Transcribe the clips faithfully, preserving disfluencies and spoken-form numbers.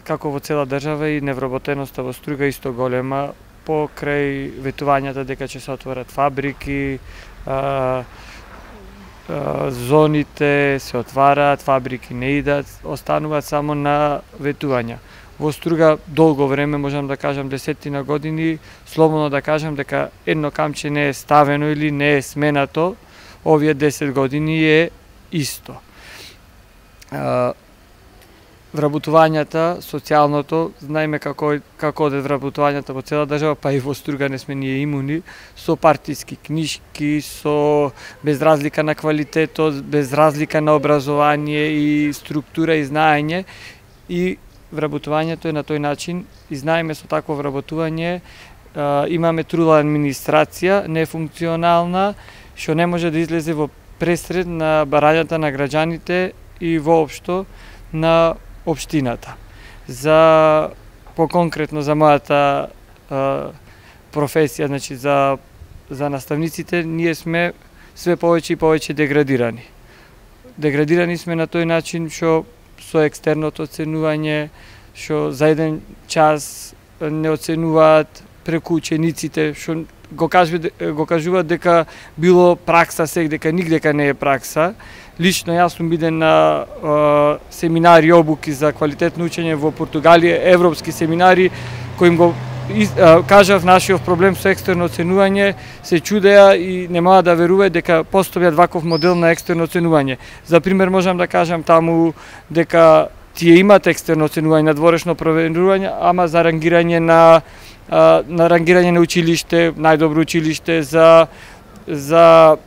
како во цела држава и невработеноста во Струга исто голема, покрај ветувањата дека ќе се отворат фабрики, а, а, зоните се отвараат, фабрики не идат, остануваат само на ветувања. Во Струга долго време, можам да кажам десетина години, слободно да кажам дека едно камче не е ставено или не е сменато, овие десет години е исто. А, вработувањата, социјалното, знаеме како како одат вработувањата во цела држава, па и во Струга не сме ние имуни, со партиски книшки, со без разлика на квалитетот, без разлика на образование и структура и знаење, и вработувањето е на тој начин, и знаеме со такво вработување а, имаме трула администрација, нефункционална, што не може да излезе во пресред на барањата на граѓаните и воопшто на општината. За поконкретно за мојата а, професија, значи за за наставниците, ние сме све повеќе и повеќе деградирани. Деградирани сме на тој начин што со екстерното оценување, што за еден час не оценуваат преку учениците, што го кажуваат, го кажуваат дека било пракса сек, дека нигдека не е пракса. Лично јас сум биден на е, семинари, обуки за квалитетно учење во Португалија, европски семинари, кои им го из, е, кажав нашиот проблем со екстерно оценување, се чудеа и не можат да веруваат дека постојат ваков модел на екстерно оценување. За пример можам да кажам таму дека тие имат екстерно оценување, надворешно проверување, ама за рангирање на на рангирање на училиште, најдобро училиште, за за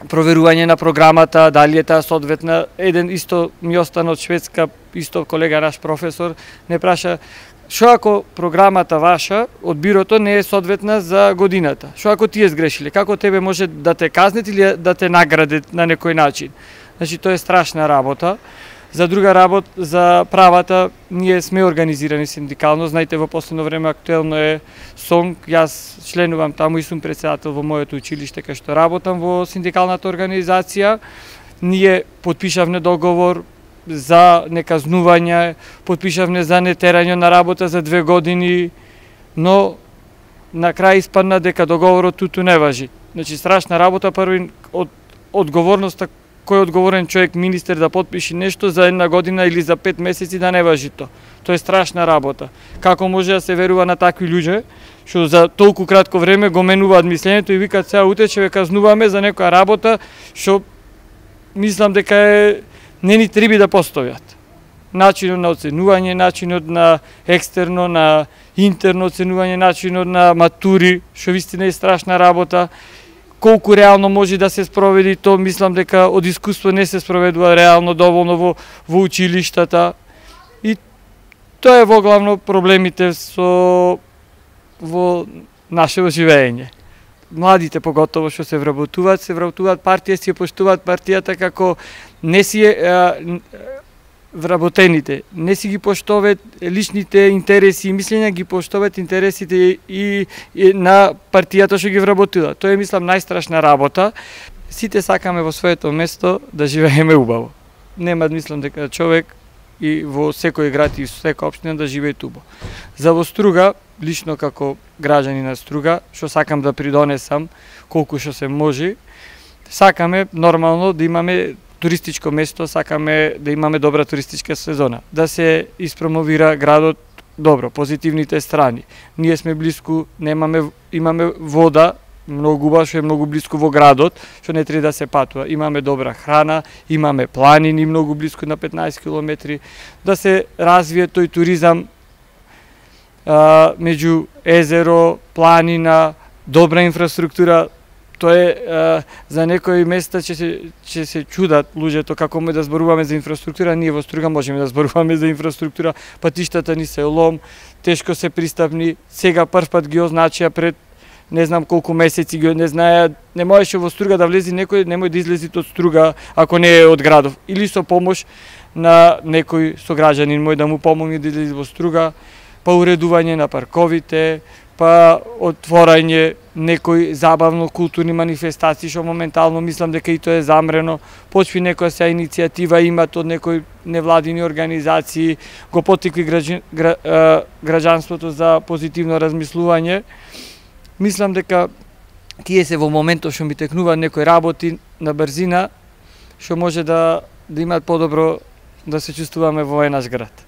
проверување на програмата, дали е таа соодветна. Еден исто ми остана од Шведска, исто колега наш професор, не праша што ако програмата ваша од бирото не е соодветна за годината? Што ако тие сгрешиле? Како тебе може да те казнет или да те наградат на некој начин? Значи тоа е страшна работа. За друга работа, за правата, ние сме организирани синдикално. Знаете, во последно време актуелно е СОНК. Јас членувам таму и сум председател во моето училиште кај што работам во синдикалната организација. Ние подпишавме договор за неказнување, подпишавме за нетерање на работа за две години, но на крај испадна дека договорот туту не важи. Значи страшна работа, први од одговорноста, кој е одговорен човек, министер, да подпиши нешто за една година или за пет месеци да не важи то. Тоа е страшна работа. Како може да се верува на такви луѓе, што за толку кратко време го менуваат мислењето и викаат сега утре ќе ве казнуваме за некоја работа што мислам дека е не ни треба да постојат. Начинот на оценување, начинот на екстерно, на интерно оценување, начинот на матури, што вистина е страшна работа. Колку реално може да се спроведи то, мислам дека од искуство не се спроведува реално доволно во, во училиштата. И тоа е во главно проблемите со во нашето живење. Младите поготово што се вработуваат, се вработуваат партија, си поштуваат партијата како не си е, вработените, не си ги поштоват личните интереси и мислења, ги поштоват интересите и, и на партијата што ги вработила. Тоа е, мислам, најстрашна работа. Сите сакаме во своето место да живееме убаво. Нема, мислам, дека човек и во секој град и секоја општина да живее убаво. За во Струга, лично како граѓани на Струга, што сакам да придонесам колку што се може, сакаме нормално да имаме туристичко место, сакаме да имаме добра туристичка сезона, да се испромовира градот добро, позитивните страни. Ние сме блиску, немаме, имаме вода, многу убава, што е многу блиску во градот, што не треба да се патува. Имаме добра храна, имаме планини многу блиску на петнаесет километри, да се развие тој туризам а, меѓу езеро, планина, добра инфраструктура. Тоа е а, за некои места ќе се ќе се чудат луѓето како ме да зборуваме за инфраструктура. Ние во Струга можеме да зборуваме за инфраструктура. Патиштата ни се лом, тешко се пристапни. Сега прв пат ги означија пред не знам колку месеци ги не знаеа, не можеше во Струга да влезе некој, немој да излези од Струга ако не е од градов, или со помош на некој сограѓанин мој да му помогне да излезе во Струга, па уредување на парковите, па отворање некои забавно културни манифестации што моментално мислам дека и тоа е замрено, почви некоја се иницијатива имат од некои невладини организации, го поттикви граѓан, гра, граѓанството за позитивно размислување. Мислам дека тие се во моментот што ми текнуваат некои работи на брзина, што може да, да имат подобро да се чувствуваме во овој наш град.